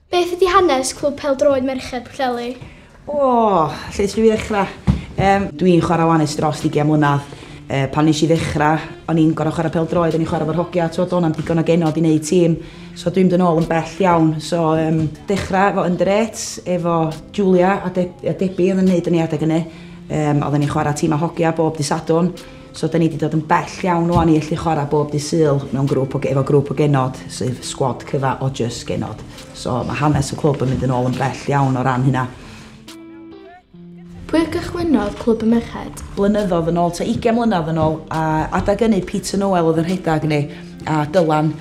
Beth ydy hanes Clwb Pêl-droed Merched Pwllheli? O, lle swn i ddechrau? Dwi'n chwarae wan ers dros 20 mlynedd. Pan nes i ddechrau, o'n i'n gorau chwarae pêl-droed, o'n i'n chwarae efo'r hogia, t'wod, do'n na'm digon o genod i wneud tîm. So dwi'n mynd yn ôl yn bell iawn. So dechrau efo under eights, efo Julia a Debbie oedd yn neud yn ei adeg hynny. Oedden ni'n chwarae tîm a hogia bob dydd Sadwrn. So da ni wedi dod yn bell iawn wan i allu chwarae bob dydd Sul mewn grŵp o, efo grŵp o genod, sef squad cyfa o just genod. So mae hanes y clwb yn mynd yn ôl yn bell iawn o ran hynna. Pwy gychwynnodd Clwb y Merched? Blynyddoedd yn ôl, ta 20 mlynedd yn ôl, a adag hynny Peter Noel oedd yn rhedeg ni, a Dylan.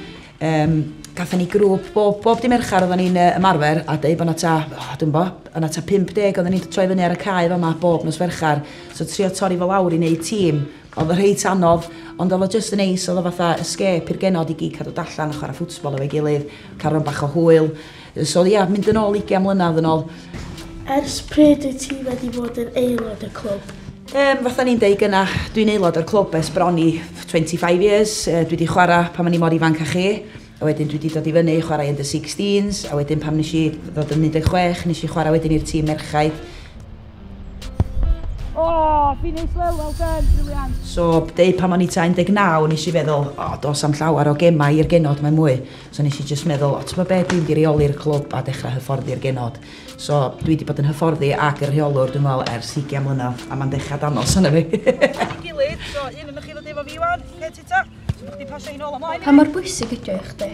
Gathon ni grŵp, bob dydd Mercher oedden ni'n ymarfer, a deud bod 'na ta, oh, dwi'n bo, o'na ta 50 oedden ni'n troi fyny ar y cae fama bob nos Fercher. So trio torri fo lawr i wneud tîm, oedd o reit anodd, ond oedd o just yn neis, oedd o fatha escape i'r genod i gyd cadw allan a chwarae ffwtbol efo'i gilydd, cael rhan bach o hwyl. So ia, mynd yn ôl 20 mlynedd yn ôl. Ers pryd wyt ti wedi bod yn aelod y clwb? Fatha ni'n deud gyna, dwi'n aelod o'r clwb ers bron i 25 years. Dwi wedi chwarae pan o'n i mor ifanc â chi. A wedyn dwi wedi dod i fyny i chwarae under 16s, a wedyn pan nes i ddod yn 16, nes i chwarae wedyn i'r tîm merchaid. Oh, finish well, well done, brilliant. So, deud pan o'n i ta 19, nes i feddwl, o, oh, dos am llawer o gemau i'r genod, mae mwy. So nes i just meddwl, o, ti'n be, dwi'n di reoli'r clwb a dechrau hyfforddi'r genod. So, dwi wedi bod yn hyfforddi ac y rheolwr, dwi'n meddwl, ers 20 mlynedd, a mae'n dechrau danos yna fi. Gilydd, so un yn chi ddod efo fi wan, ce tita. So chdi pasio un ôl ymlaen. Pa mor bwysig ydy o i chdi?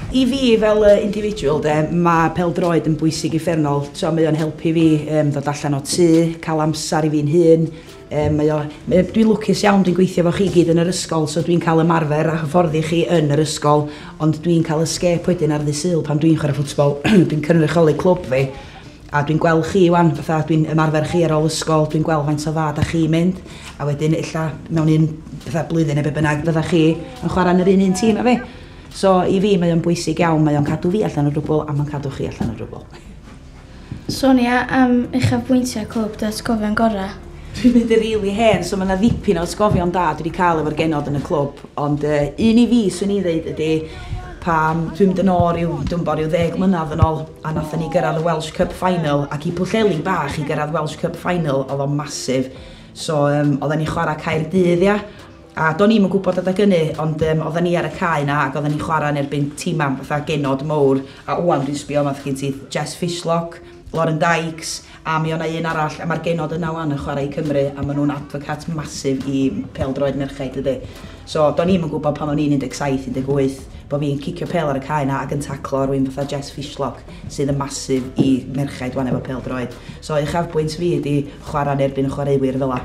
I fi fel individual, de, mae pêl-droed yn bwysig uffernol. So, mae o'n helpu fi ddod allan o tŷ, cael amser i fi'n hun. Dwi'n lwcus iawn, dwi'n gweithio efo chi gyd yn yr ysgol, so dwi'n cael ymarfer a hyfforddi chi yn yr ysgol, ond dwi'n cael escape wedyn ar ddydd Sul pan dwi'n chwarae ffwtbol. Dwi'n cynrychioli clwb fi, a dwi'n gweld chi wan, fatha dwi'n ymarfer chi ar ôl ysgol, dwi'n gweld faint o dda da chi mynd, a wedyn illa mewn un fatha blwyddyn neu be bynnag fydda chi yn chwarae yn yr un un tîm â fi. So i fi mae o'n bwysig iawn, mae o'n cadw fi allan o drwbl a mae'n cadw chi allan o drwbl. Sonia am uchafbwyntiau clwb, dy atgofion gorau? Dwi'n mynd yn rili hen, so mae yna ddipyn o atgofion da dwi wedi cael efo'r genod yn y clwb. Ond un i fi, swn i ddeud, ydy pam dwi'n mynd yn ôl rhyw, dwi'n bod rhyw 10 mlynedd yn ôl, a nathon ni gyrraedd y Welsh Cup Final, ac i Pwllheli bach i gyrraedd Welsh Cup Final, oedd o'n massive. So, oedden ni chwarae Caerdydd, ia. A do'n i'm yn gwybod adeg hynny, ond oedden ni ar y cae na, ac oedden ni chwarae yn erbyn tîmau fatha genod mowr. A wan dwi'n sbio, mae gen ti Jess Fishlock, Lauren Dykes, a mi o'na un arall, a mae'r genod yna wan yn chwarae i Cymru, a maen nhw'n advocate massive i pêl-droed merchaid ydy. So, do'n i'm yn gwybod pan o'n i'n 17, 18, bod fi'n cicio pêl ar y cae na ac yn taclo rhywun fatha Jess Fishlock, sydd yn massive i merchaid wan efo pêl-droed. So, uchafbwynt fi ydy chwarae yn erbyn chwaraewyr fel 'a.